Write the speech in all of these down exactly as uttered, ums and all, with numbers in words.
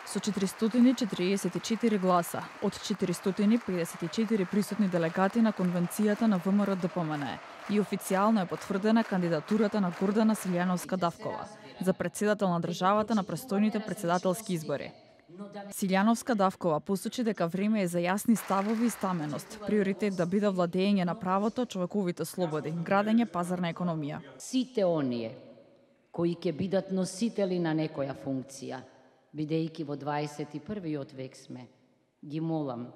Со четиристотини четиридесет и четири гласа од четиристотини педесет и четири присутни делегати на конвенцијата на ВМРО-ДПМН и официјално е потврдена кандидатурата на Гордана Силјановска-Давкова за председател на државата на престојните председателски избори. Силјановска-Давкова посочи дека време е за јасни ставови и стаменост, приоритет да биде владење на правото, човековите слободи, градење пазарна економија. Сите оние кои ќе бидат носители на некоја функција, бидејќи во дваесет и првиот век сме, ги молам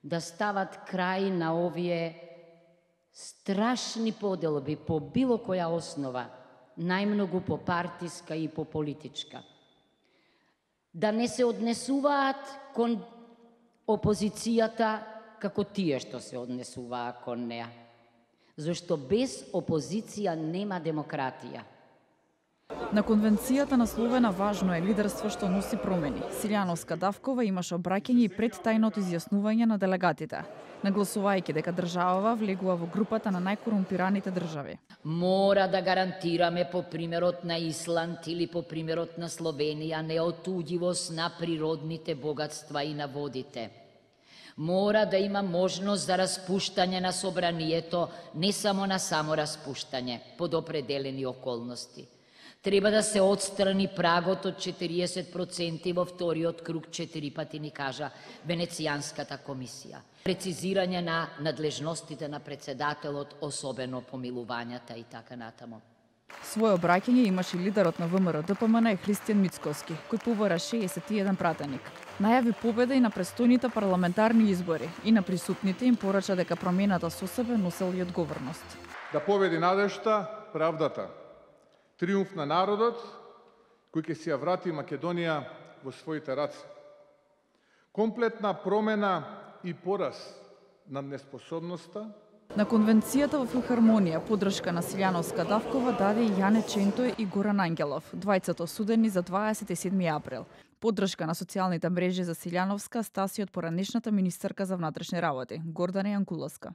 да стават крај на овие страшни поделби по било која основа, најмногу по партиска и по политичка. Да не се однесуваат кон опозицијата како тие што се однесуваа кон неа. Зашто без опозиција нема демократија. На конвенцијата насловена важно е лидерство што носи промени. Силјановска-Давкова имаше обраќање и пред тајното изјаснување на делегатите, нагласувајќи дека државава влегува во групата на најкорумпираните држави. Мора да гарантираме по примерот на Исланд или по примерот на Словенија неотуѓивост на природните богатства и на водите. Мора да има можност за распуштање на собранието, не само на само распуштање, под определени околности. Треба да се отстрани прагот од четириесет проценти во вториот круг, четири пати ни кажа Венецијанската комисија. Прецизирање на надлежностите на председателот, особено помилувањата и така натаму. Своје обраќање имаше лидерот на ВМРО-ДПМН Христијан Мицкоски, кој побара шеесет и еден пратеник. Најави победа и на престојните парламентарни избори и на присутните им порача дека промената со себе носел и одговорност. Да победи надежта, правдата. Триумф на народот, кој ќе си ја врати Македонија во своите раце. Комплетна промена и пораз на неспособноста. На конвенцијата во филхармонија поддршка на Силјановска-Давкова даде и Јане Ченто и Горан Ангелов, двајцата осудени за дваесет и седми април. Поддршка на социјалните мрежи за Силјановска стаси од поранешната министерка за внатрешни работи, Гордана Јанкуловска.